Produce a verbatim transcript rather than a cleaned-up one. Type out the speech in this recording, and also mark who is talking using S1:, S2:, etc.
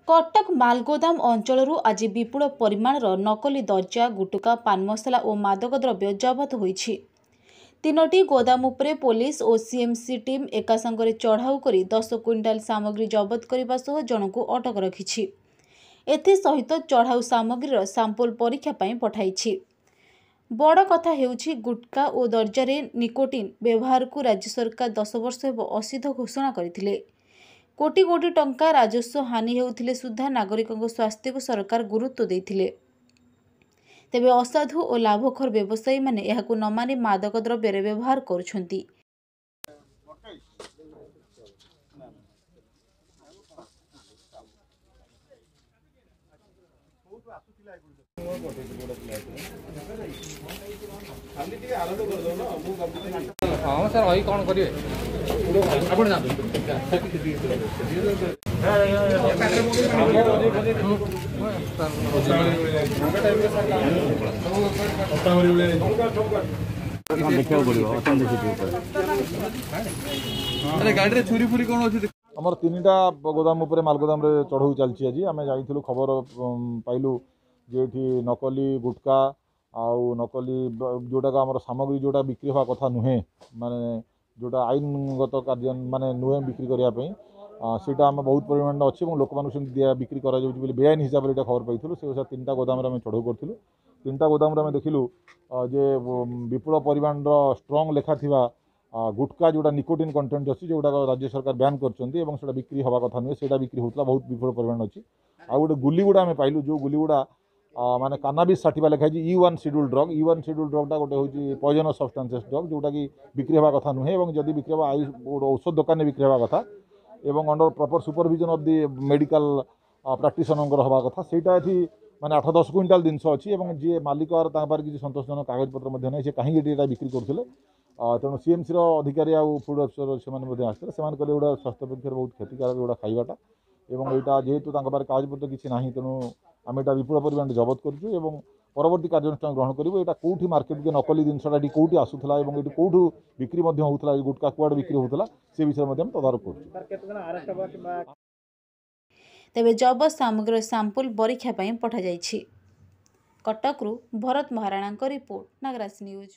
S1: କଟକ ମାଲଗୋଦାମ ଅଞ୍ଚଳରୁ ଆଜି ବିପୁଳ ପରିମାଣର ନକଲି ଦର୍ଜା, ଗୁଟୁକା, ପାନ ମସଲା ଓ ମାଦକ ଦ୍ରବ୍ୟ ଜବତ ହୋଇଛି। ତିନୋଟି ଗୋଦାମ ଉପରେ ପୋଲିସ ଓ ସିଏମ୍ସି ଟିମ୍ ଏକାସାଙ୍ଗରେ ଚଢ଼ାଉ କରି ଦଶ କୁଇଣ୍ଟାଲ ସାମଗ୍ରୀ ଜବତ କରିବା ସହ ଜଣଙ୍କୁ ଅଟକ ରଖିଛି। ଏଥିସହିତ ଚଢ଼ାଉ ସାମଗ୍ରୀର ସାମ୍ପୁଲ ପରୀକ୍ଷା ପାଇଁ ପଠାଇଛି। ବଡ଼ କଥା ହେଉଛି, ଗୁଟକା ଓ ଦର୍ଜାରେ ନିକୋଟିନ୍ ବ୍ୟବହାରକୁ ରାଜ୍ୟ ସରକାର ଦଶ ବର୍ଷ ହେବ ଅସିଦ୍ଧ ଘୋଷଣା କରିଥିଲେ। କୋଟି କୋଟି ଟଙ୍କା ରାଜସ୍ୱ ହାନି ହେଉଥିଲେ ସୁଦ୍ଧା ନାଗରିକଙ୍କ ସ୍ୱାସ୍ଥ୍ୟକୁ ସରକାର ଗୁରୁତ୍ୱ ଦେଇଥିଲେ। ତେବେ ଅସାଧୁ ଓ ଲାଭଖୋର ବ୍ୟବସାୟୀମାନେ ଏହାକୁ ନ ମାନି ମାଦକ ଦ୍ରବ୍ୟରେ ବ୍ୟବହାର କରୁଛନ୍ତି।
S2: ହଁ ସାର୍, ରହି କ'ଣ କରିବେ? ଆପଣ ଯାଆନ୍ତୁ।
S3: ଦେଖିବାକୁ ପଡ଼ିବ ଅଥେଣ୍ଟିସିଟି ଉପରେ।
S2: ଆରେ, ଗାଡ଼ିରେ ଛୁରୀ ଫୁରି କ'ଣ ଅଛି?
S4: ଆମର ତିନିଟା ଗୋଦାମ ଉପରେ ମାଲଗୋଦାମରେ ଚଢ଼ଉ ଚାଲିଛି। ଆଜି ଆମେ ଯାଇଥିଲୁ, ଖବର ପାଇଲୁ ଯେ ଏଠି ନକଲି ଗୁଟକା ଆଉ ନକଲି ଯେଉଁଟାକ ଆମର ସାମଗ୍ରୀ, ଯେଉଁଟା ବିକ୍ରି ହେବା କଥା ନୁହେଁ, ମାନେ ଯେଉଁଟା ଆଇନଗତ କାର୍ଯ୍ୟ ମାନେ ନୁହେଁ ବିକ୍ରି କରିବା ପାଇଁ, ସେଇଟା ଆମେ ବହୁତ ପରିମାଣରେ ଅଛି ଏବଂ ଲୋକମାନଙ୍କୁ ସେମିତି ଦିଆ ବିକ୍ରି କରାଯାଉଛି ବୋଲି ବେଆଇନ ହିସାବରେ ଏଇଟା ଖବର ପାଇଥିଲୁ। ସେ ଅନୁସାରେ ତିନିଟା ଗୋଦାମରେ ଆମେ ଚଢ଼ଉ କରିଥିଲୁ। ତିନିଟା ଗୋଦାମରେ ଆମେ ଦେଖିଲୁ ଯେ ବିପୁଳ ପରିମାଣର ଷ୍ଟ୍ରଙ୍ଗ ଲେଖା ଥିବା ଗୁଟକା, ଯେଉଁଟା ନିକୋଟିନ୍ କଣ୍ଟେଣ୍ଟ ଅଛି, ଯେଉଁଟାକ ରାଜ୍ୟ ସରକାର ବ୍ୟାନ୍ କରିଛନ୍ତି ଏବଂ ସେଇଟା ବିକ୍ରି ହେବା କଥା ନୁହେଁ, ସେଇଟା ବିକ୍ରି ହେଉଥିଲା, ବହୁତ ବିପୁଳ ପରିମାଣ ଅଛି। ଆଉ ଗୋଟେ ଗୁଲି ଗୁଡ଼ା ଆମେ ପାଇଲୁ, ଯେଉଁ ଗୁଲି ଗୁଡ଼ା ମାନେ କାନାବିସ୍ ସାଟିଭା ଲେଖା ହେଇଛି, E one schedule drug. E one schedule ଡ୍ରଗ୍ଟା ଗୋଟେ ହେଉଛି ପଏଜନସ୍ ସବଷ୍ଟାନ୍ସେସ୍ ଡ୍ରଗ୍, ଯେଉଁଟାକି ବିକ୍ରି ହେବା କଥା ନୁହେଁ ଏବଂ ଯଦି ବିକ୍ରି ହେବ, I ଗୋଟେ ଔଷଧ ଦୋକାନରେ ବିକ୍ରି ହେବା କଥା ଏବଂ under proper supervision of the medical ପ୍ରାକ୍ଟିସନରଙ୍କର ହେବା କଥା। ସେଇଟା ଏଠି ମାନେ ଆଠ ଦଶ କୁଇଣ୍ଟାଲ ଜିନିଷ ଅଛି ଏବଂ ଯିଏ ମାଲିକ ତାଙ୍କ ପାଖରେ କିଛି ସନ୍ତୋଷଜନକ କାଗଜପତ୍ର ମଧ୍ୟ ନାହିଁ, ସେ କାହିଁକି ଏଠି ଏଇଟା ବିକ୍ରି କରୁଥିଲେ। ତେଣୁ ସିଏମ୍ସିର ଅଧିକାରୀ ଆଉ ଫୁଡ଼ ଅଫିସର ସେମାନେ ମଧ୍ୟ ଆସିଥିଲେ। ସେମାନେ କହିଲେ ଏଗୁଡ଼ା ସ୍ୱାସ୍ଥ୍ୟ ପକ୍ଷରେ ବହୁତ କ୍ଷତିକାରକ ଏଗୁଡ଼ା ଖାଇବାଟା ଏବଂ ଏଇଟା ଯେହେତୁ ତାଙ୍କ ପାଖରେ କାଗଜପତ୍ର କିଛି ନାହିଁ, ତେଣୁ ଆମେ ଏଇଟା ବିପୁଳ ପରିମାଣରେ ଜବତ କରୁଛୁ ଏବଂ ପରବର୍ତ୍ତୀ କାର୍ଯ୍ୟାନୁଷ୍ଠାନ ଗ୍ରହଣ କରିବୁ। ଏଇଟା କେଉଁଠି ମାର୍କେଟକୁ ନକଲି ଜିନିଷଟା ଏଠି କେଉଁଠି ଆସୁଥିଲା ଏବଂ ଏଠି କେଉଁଠୁ ବିକ୍ରି ମଧ୍ୟ ହେଉଥିଲା, ଏ ଗୁଟକା କୁଆଡ଼େ ବିକ୍ରି ହେଉଥିଲା, ସେ ବିଷୟରେ ମଧ୍ୟ ଆମେ ତଦାରଖ କରୁଛୁ।
S1: ତେବେ ଜବତ ସାମଗ୍ରୀର ସାମ୍ପୁଲ ପରୀକ୍ଷା ପାଇଁ ପଠାଯାଇଛି। କଟକରୁ ଭରତ ମହାରାଣାଙ୍କ ରିପୋର୍ଟ, ନାଗରାଜ ନ୍ୟୁଜ୍।